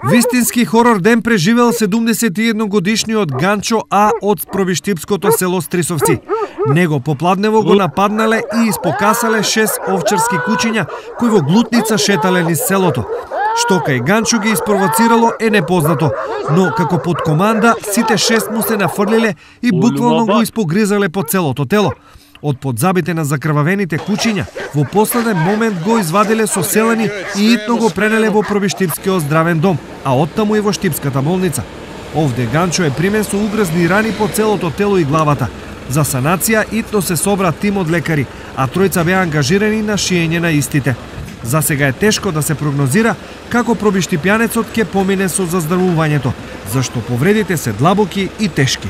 Вистински хорор ден преживел 71 годишниот Ганчо А од пробиштипското село Стрисовци. Него попладнево го нападнале и испокасале 6 овчарски кучиња кои во глутница шетале низ селото. Што кај Ганчо ги испровоцирало е непознато, но како под команда сите 6 му се нафрлиле и буквално го испогризале по целото тело. Од подзабите на закрвавените кучиња, во последен момент го извадиле со селени и итно го пренеле во пробиштипскиот здравен дом, а оттаму и во штипската болница. Овде Ганчо е примен со угрозни рани по целото тело и главата. За санација итно се собра тим од лекари, а тројца беа ангажирани на шиење на истите. За сега е тешко да се прогнозира како пробиштипјанецот ќе помине со заздравувањето, зашто повредите се длабоки и тешки.